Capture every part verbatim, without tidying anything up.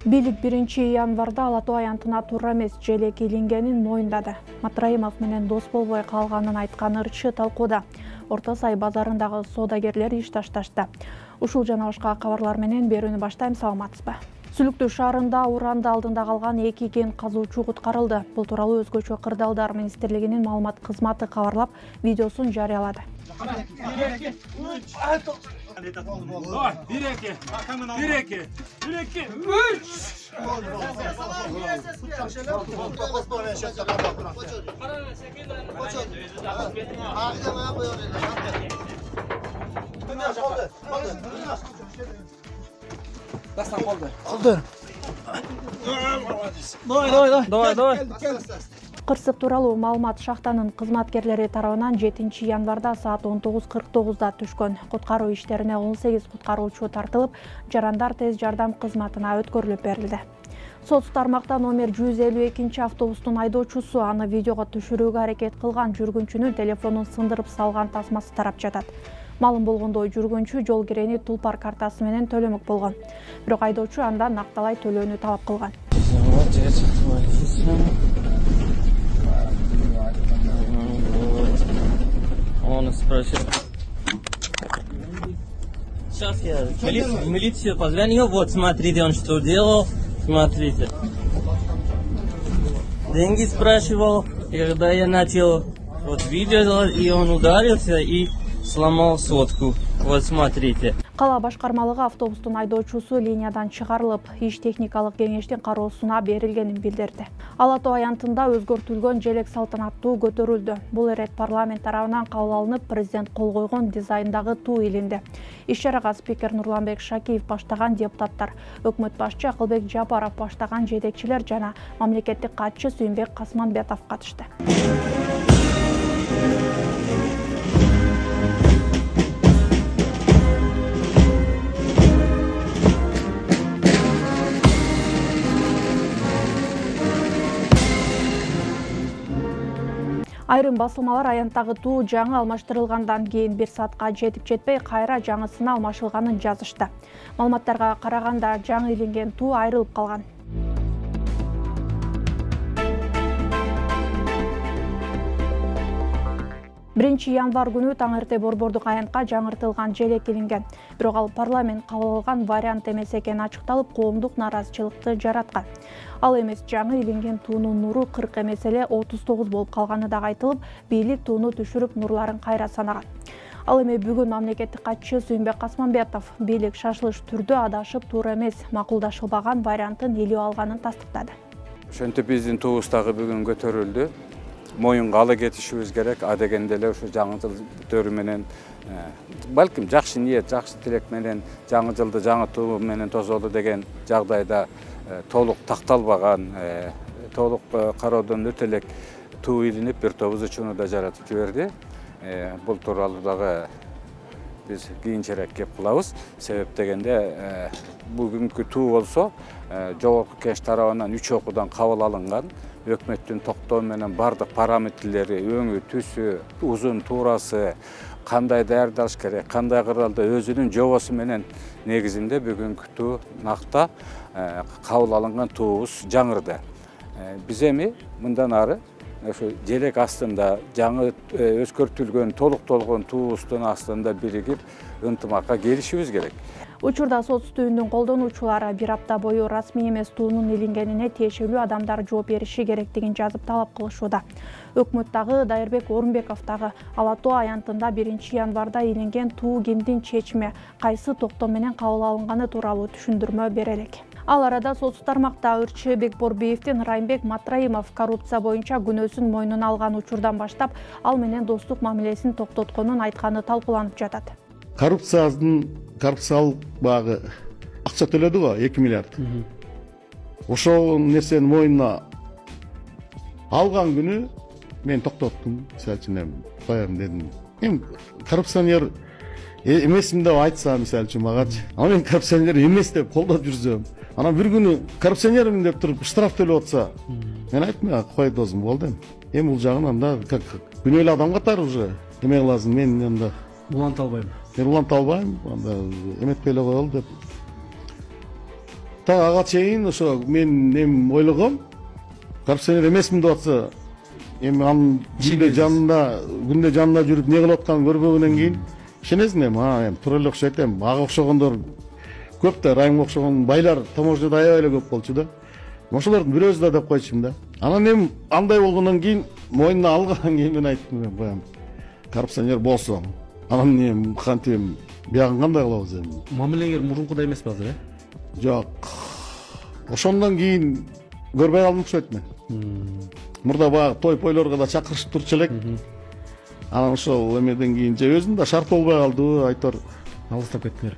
Бийлик биринчи январда Ала Тоо аянтына туура эмес желек илингенин моюндады. Матраимов менен дос болбой калганын айткан ырчы талкууда. Орто Сай базарындагы соодагерлер иш ташташты. Ушул жана башка кабарлар менен берүүнү баштайм, саламатсызбы? Сүлүктүү шаарында уранды алдында калган эки кен казуучу куткарылды. Бул тууралуу Өзгөчө кырдаалдар министрлигинин маалымат кызматы кабарлап, видеосун жарыялады. Кырсык тууралуу маалымат шахтанын кызматкерлери тарабынан жетинчи январда саат он тогуз кырк тогузда түшкөн. Куткаруу иштерине он сегиз куткаруучу тартылып, жарандар тез жардам кызматына өткөрүлүп берилди. Соц тармакта номер жүз элүү экинчи автобустун айдоочусу аны видеого түшүрүүгө аракет кылган жүргүнчүнүн телефонун сындырып салган тасмасы тарап жатат. Маалым болгондой, жүргүнчү жол кирени Тулпар картасы менен төлөмөк болгон. Бирок айдоочу андан накталай төлөөнү талап кылган. Он спросил. Сейчас я в милицию позвонил. Вот, смотрите, он что делал. Смотрите. Деньги спрашивал. И когда я начал вот видео делать, и он ударился и сломал сотку. Вот, смотрите. Кала башкармалыгы автобустун айдоочусу линиядан чыгарылып, иш техникалык кеңештин кароосуна берилгенин билдирди. Ала Тоо аянтында өзгөртүлгөн желек салтанаттуу көтөрүлдү. Бул ирет парламент тарабынан кабыл алынып, президент кол койгон дизайндагы туу илинди. Иш-чарага спикер Нурланбек Шакиев баштаган депутаттар, өкмөт башчы Акылбек Жапаров баштаган жетекчилер жана мамлекеттик катчы Сүйүнбек Касманбетов катышты. Айрым басылмалар аянттагы туу жаңы алмаштырылгандан кийин бир саатка жетип жетпей кайра жаңысына алмашылганын жазышты. Маалыматтарга караганда жаңы илинген туу айрылып калган. биринчи январ күнү таң эрте борбордук аянтка жаңыртылган желек илинген. Бирок ал парламент кабыл алган вариант эмес экени ачыкталып, коомдук нааразычылыкты жараткан. Ал эмес, жаңы илинген туунун нуру кырк эмес эле отуз тогуз болуп калганы дагы айтылып, бийлик тууну түшүрүп нурларын кайра санаган. Ал эми бүгүн мамлекеттик катчы Сүйүнбек Касманбетов бийлик шашылыш түрдө адашып туура эмес, макулдашылбаган вариантын илип алганын тастыктады. Ошентип биздин туубуз дагы бүгүн көтөрүлдү. Моюнга ала кетишибиз керек. А дегенде эле ушу жаңы жыл өтөрү менен балким жакшы ниет, жакшы тилек менен жаңы жылды жаңы туу менен тосолу деген жагдайда толук такталбаган, толук кароодон өтө элек туу илинип, бир топ ызычууну да жаратып жиберди. Бул тууралуу дагы биз кийинчерээк кеп кылабыз. Себеп дегенде бүгүнкү туу болсо жогорку кеңеш тарабынан үч окуудан кабыл алынган. Өкмөттүн токтоо менен бардык параметрлери, өңү, түсү, узун, туурасы, кандай даярдалыш керек, кандай кыралда өзүнүн жобосу менен негизинде бүгүнкү туу накта кабыл алынган туубуз жаңырды. Биз эми мындан ары ошо желек астында жаңы өзгөртүлгөн, толуктолгон туубуздун астында биригип ынтымакка келишибиз керек. Учурда соц түйүндүн колдонуучулары бир апта бою расмий эмес туунун илингенине тиешелүү адамдар жооп бериши керектигин жазып талап кылышууда. Өкмөт дагы, Дайырбек Орунбеков дагы Ала Тоо аянтында биринчи январда илинген туу кимдин чечими, кайсы токтом менен кабыл алынганы тууралуу түшүндүрмө бере элек. Ал арада соц тармакта ырчы Бекборбиевдин Райымбек Матраимов коррупция боюнча күнөөсүн мойнуна алган учурдан баштап ал менен достук мамилесин токтотконун айтканы талкууланып жатат. Коррупциянын коррупциялык багы акча төлөдү го эки миллиард. Ошол нерсени мойнуна алган күнү мен токтоттум. Мисалы үчүн коем дедим. Эми коррупционер эмесмин деп айтса, мисалы үчүн магачы. Ана мен коррупционер эмес деп колдоп жүрсөм, анан бир күнү коррупционермин деп туруп штраф төлөп атса, мен айттым, кой досум, болду эми. Эми бул жагын анда как күнөөлүү адам катары уже эме кыласың, мен анда уланта албайм. Мен уланта албайм, анда эметпей эле коелу деп. так ага чейин ошо мен эми ойлогом, коррупционер эмесмин деп атса, эми анын күндө жанында, күндө жанында жүрүп не кылып атканын көрбөгөндөн кийин ишенесиң эми, а эми туура эле окшойт эми. Ага окшогондор көп да, Райымга окшогон байлар таможняда аябай эле көп болчу да. Ошолордун бирөөсү да деп койчумун да. Анан эми андай болгондон кийин, моюнуна алгандан кийин мен айттым, баягы коррупционер болсо, анан эми кантип эми биягын кандай кылабыз эми? Мамилеңер мурункудай эмеспи азыр, э? Жок. Ошондон кийин көрбөй калдым окшойт мен. Мурда баягы той-пойлорго да чакырышып турчу элек. Анан ошол эмеден кийин же өзүм да шарт болбой калды, айтор Алыстап кеттиңер.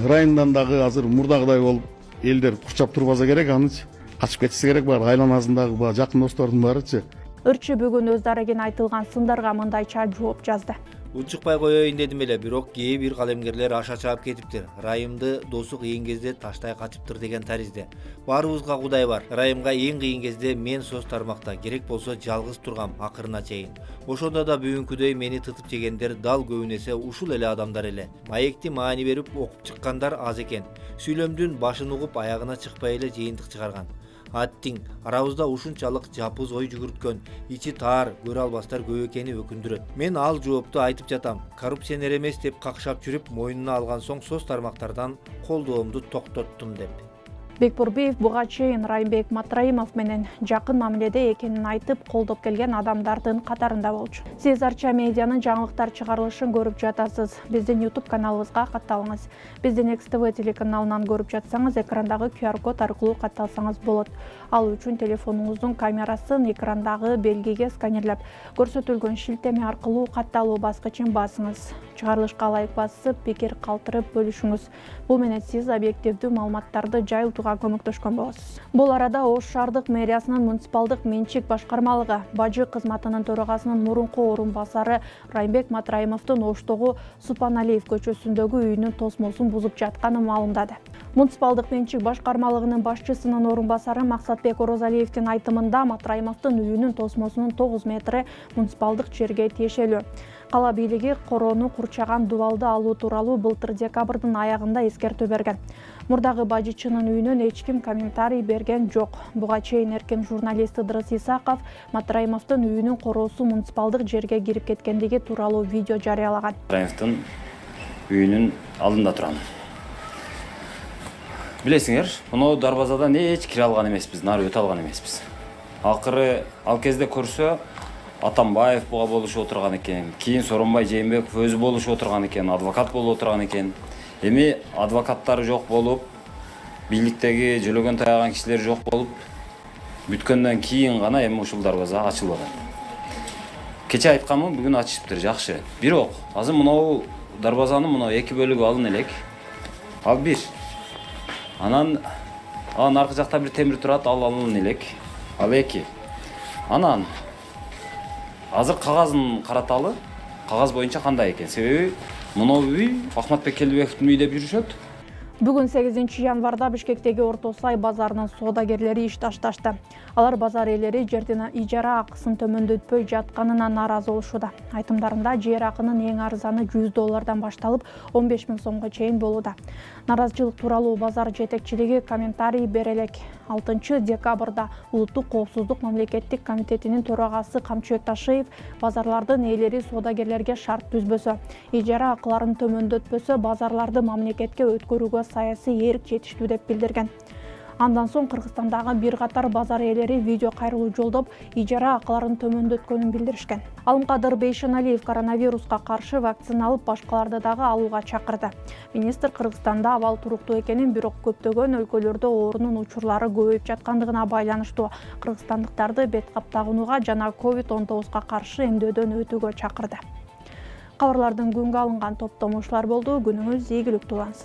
Райымдан дагы азыр мурдагыдай болуп элдер курчап турбаса керек, анычы качып кетсе керек, баары айланасындагы баягы жакын достордун баарычы. Ырчы бүгүн өз дарегине айтылган сындарга мындайча жооп жазды. Учукпай коеюн дедим эле, бирок кээ бир калемгерлер аша чаап кетиптир. Райымды досу кыйын кезде таштай качыптыр деген таризде. Баарыбызга Кудай бар. Райымга эң кыйын кезде мен соц тармакта, керек болсо жалгыз тургам акырына чейин. Ошондо да бүгүнкүдөй мени тытып жегендер дал көбүн эсе ушул эле адамдар эле. Маекти маани берип окуп чыккандар аз экен. Сүйлөмдүн башын угуп аягына чыкпай эле жыйынтык чыгарган. Аттиң, арабызда ушунчалык жапыз ой жүгүрткөн, ичи таар, көрө албастар көп экени өкүндүрөт. Мен ал жоопту айтып жатам. Коррупционер эмес деп какшап жүрүп, мойнуна алган соң соц тармактардан колдоомду токтоттум деп. Бекбурбиев буга чейин Райымбек Матраимов менен жакын мамиледе экенин айтып, колдоп келген адамдардын катарында болчу. Сиз Арча медианын жаңылыктар чыгарылышын көрүп жатасыз. Биздин YouTube каналыбызга катталыңыз. Биздин Экс Тэ Вэ телеканалынан көрүп жатсаңыз, экрандагы ку ар код аркылуу катталсаңыз болот. Ал үчүн телефонуңуздун камерасын экрандагы белгиге сканерлеп, көрсөтүлгөн шилтеме аркылуу катталуу баскычын басыңыз. Чыгарылышка лайк басып, пикир калтырып бөлүшүңүз. Бул менен сиз объективдүү маалыматтарды жайылтууга көмөктөшкөн болосуз. Бул арада Ош шаардык мэриясынын муниципалдык менчик башкармалыгы бажы кызматынын төрагасынын мурунку орун басары Райымбек Матраимовдун Оштогу Супаналиев көчөсүндөгү үйүнүн тосмосун бузуп жатканын маалымдады. Муниципалдык менчик башкармалыгынын башчысынын орун басары Максатбек Орозалиевдин айтымында Матраимовдун үйүнүн тосмосунун тогуз метри муниципалдык жерге тиешелүү. Кала бийлиги короону курчаган дубалды алуу тууралуу былтыр декабрдын аягында эскертүү берген. Мурдагы бажычынын үйүнөн эч ким комментарий берген жок. Буга чейин эркин журналист Ыдырыс Исаков Матраимовдун үйүнүн короосу муниципалдык жерге кирип кеткендиги тууралуу видео жарыялаган. Матраимовдун үйүнүн алдында турам. Билесиңер, мына дарбазадан эч кире алган эмеспиз, нары өтө алган эмеспиз. Акыры ал кезде көрсө Атамбаев буга болушуп отурган экен, кийин Соронбай Жээнбеков өзү болушуп отурган экен, адвокат болуп отурган экен. Эми адвокаттары жок болуп, бийликтеги жөлөгөн таяган кишилер жок болуп, бүткөндөн кийин гана эми ушул дарбаза ачылбаган. Кече айтканмын, бүгүн ачышыптыр, жакшы. Бирок азыр мына дарбазанын мына эки бөлүгү алын элек. Ал бир. Анан анын аркы жакта бир темир турат, ал алын элек. Ал эки. Анан азыр кагазын караталы, кагаз боюнча кандай экен? Себеби мына үй Ахматбек Келдибековдун үйү деп жүрүшөт. Бүгүн сегизинчи январда Бишкектеги Орто Сай базарынын соодагерлери иш ташташты. Алар базар ээлери жердин ижара акысын төмөндөтпөй жатканына нааразы болушууда. Айтымдарында жер акынын эң арзаны жүз доллардан башталып он беш миң сомго чейин болууда. Наразычылык тууралуу базар жетекчилиги комментарий бере элек. алтынчы декабрда Улуттук коопсуздук мамлекеттик комитетинин төрагасы Камчыбек Ташиев базарлардын ээлери соодагерлерге шарт түзбөсө, ижара акыларын төмөндөтпөсө базарларды мамлекетке өткөрүүгө саясий эрк жетиштүү деп билдирген. Андан соң Кыргызстандагы бир катар базар ээлери видео кайрылуу жолдоп, ижара акыларын төмөндөткөнүн билдиришкен. Алымкадыр Бейшеналиев коронавируска каршы вакцина алып, башкаларды дагы алууга чакырды. Министр Кыргызстанда абал туруктуу экенин, бирок көптөгөн өлкөлөрдө оорунун учурлары көбөйүп жаткандыгына байланыштуу кыргызстандыктарды бет кап тагынууга жана ковид он тогузга каршы эмдөөдөн өтүүгө чакырды. Кабарлардын күнгө алынган топтому ушулар болду. Күнүңүз ийгиликтүү улансын.